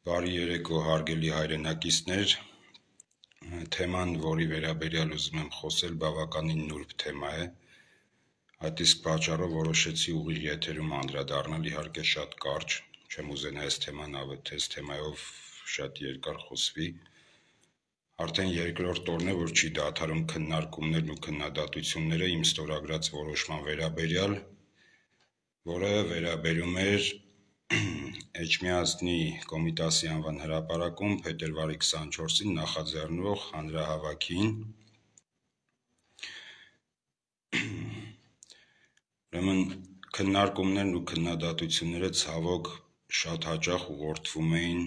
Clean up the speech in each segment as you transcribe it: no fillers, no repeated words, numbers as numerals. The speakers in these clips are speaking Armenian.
Բարի երեկո, հարգելի հայրենակիցներ, թեման, որի վերաբերյալ ուզում եմ խոսել, բավականին նուրբ թեմա է, այդ իսկ պատճառով որոշեցի ուղիղ եթերում անդրադառնալ, իհարկե շատ կարճ, չեմ ուզենա այս թեմայով շատ երկար խոսվի, արդեն երկրորդ օրն է, որ չի դադարում քննարկումներն ու քննադատությունները իմ ստորագրած որոշման վերաբերյալ, որը վերաբերում էր Էջմիածնի Կոմիտասի անվան հրապարակում փետրվարի 24-ին նախաձեռնվող հանրահավաքին, ուրեմն քննարկումներն ու քննադատությունները ցավոք շատ հաճախ ուղղորդվում էին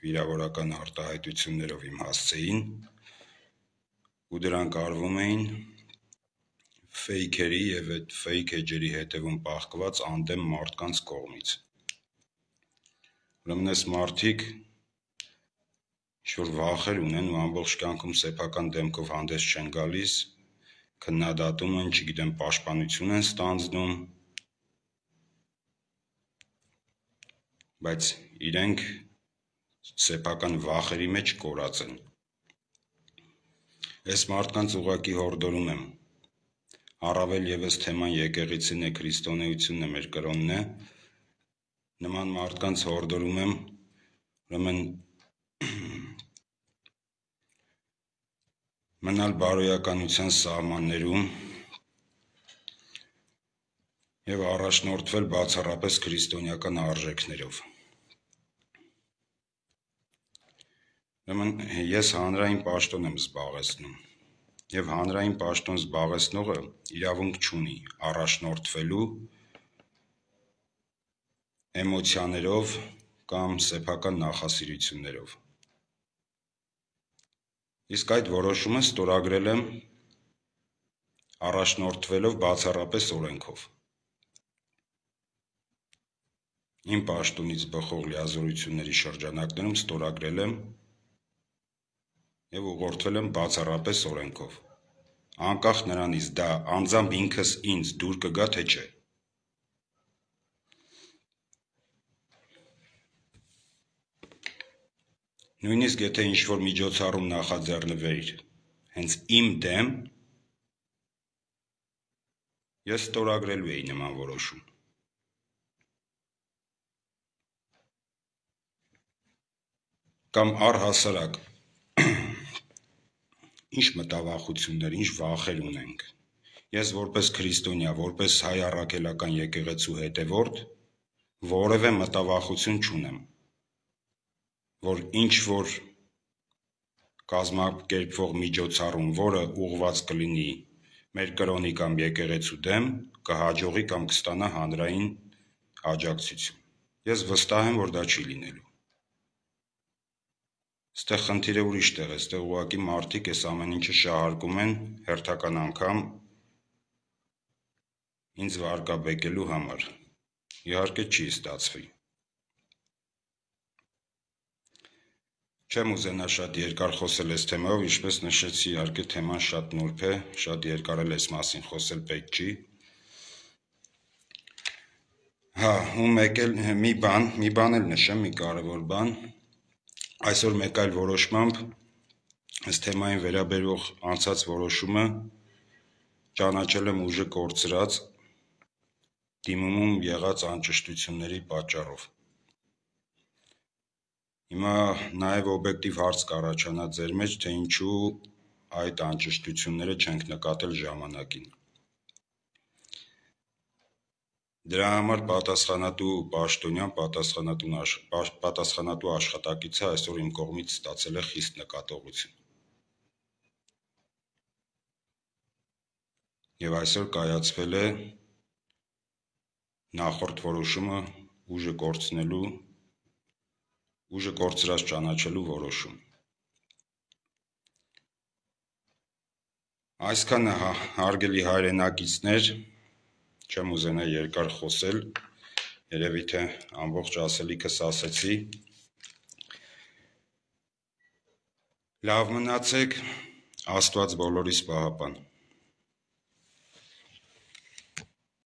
վիրավորական արտահայտություններով իմ հասցեին ու դրանք արվում էին ֆեյքերի և այդ ֆեյք էջերի հետևում պահկված անդեմ մարդկանց կողմից։ Ուրեմն այս մարդիկ ինչ-որ վախեր ունեն ու ամբողջ կյանքում սեփական դեմքով հանդես չեն գալիս, քննադատում են, չգիտեմ, պաշտպանություն են ստանձնում, բայց իրենք սեփական վախերի մեջ կորած են։ Այս մարդկանց ուղղակի հորդորում եմ, առավել ևս թեման եկեղեցին է, քրիստոնեությունն է, մեր կրոնն է, նման մարդկանց հորդորում եմ, ուրեմն մնալ բարոյականության սահմաններում և առաջնորդվել բացառապես քրիստոնեական արժեքներով։ Ուրեմն ես հանրային պաշտոն եմ զբաղեցնում և հանրային պաշտոն զբաղեցնողը իրավունք չունի առաջնորդվելու էմոցիաներով կամ սեփական նախասիրություններով։ Իսկ այդ որոշումը ստորագրել եմ առաջնորդվելով բացառապես օրենքով։ Իմ պաշտոնից բխող լիազորությունների շրջանակներում ստորագրել եմ և ուղղորդվել եմ բացառապես օրենքով, անկախ նրանից դա անձամբ ինքս ինձ դուր կգա, թե չէ։ Նույնիսկ եթե ինչ-որ միջոցառում նախաձեռնվեր հենց իմ դեմ, ես ստորագրելու էի նման որոշում։ Կամ առհասարակ, ինչ մտավախություններ, ինչ վախեր ունենք։ Ես որպես քրիստոնյա, որպես հայ առաքելական եկեղեցու հետևորդ, որևէ մտավախություն չունեմ, որ ինչ-որ կազմակերպվող միջոցառում, որը ուղղված կլինի մեր կրոնի կամ եկեղեցու դեմ, կհաջողի կամ կստանա հանրային աջակցություն։ Ես վստահ եմ, որ դա չի լինելու։ Այստեղ խնդիրը ուրիշ տեղ է, այստեղ ուղղակի մարդիկ այս ամեն ինչը շահարկում են հերթական անգամ ինձ վարկաբեկելու համար։ Իհարկե չի ստացվի։ Չեմ ուզենա շատ երկար խոսել այս թեմայով, ինչպես նշեցի, իհարկե թեման շատ նուրբ է, շատ երկար էլ այս մասին խոսել պետք չի։ Ու մի բան էլ նշեմ, մի կարևոր բան, այսօր մեկ այլ որոշմամբ այս թեմային վերաբերող անցած որոշումը ճանաչել եմ ուժը կորցրած դիմումում եղած անճշտությունների պատճառով։ Հիմա նաև օբյեկտիվ հարց կառաջանա ձեր մեջ, թե ինչու այդ անճշտությունները չենք նկատել ժամանակին։ Դրա համար պատասխանատու պաշտոնյան, պատասխանատու աշխատակիցը այսօր իմ կողմից ստացել է խիստ նկատողություն։ Եվ այսօր կայացվել է նախորդ որոշումը ուժը կորցրած ճանաչելու որոշում։ Այսքանը, հարգելի հայրենակիցներ, չեմ ուզենա երկար խոսել, երևի թե ամբողջ ասելիքս ասեցի։ Լավ մնացեք, Աստված բոլորիս պահապան։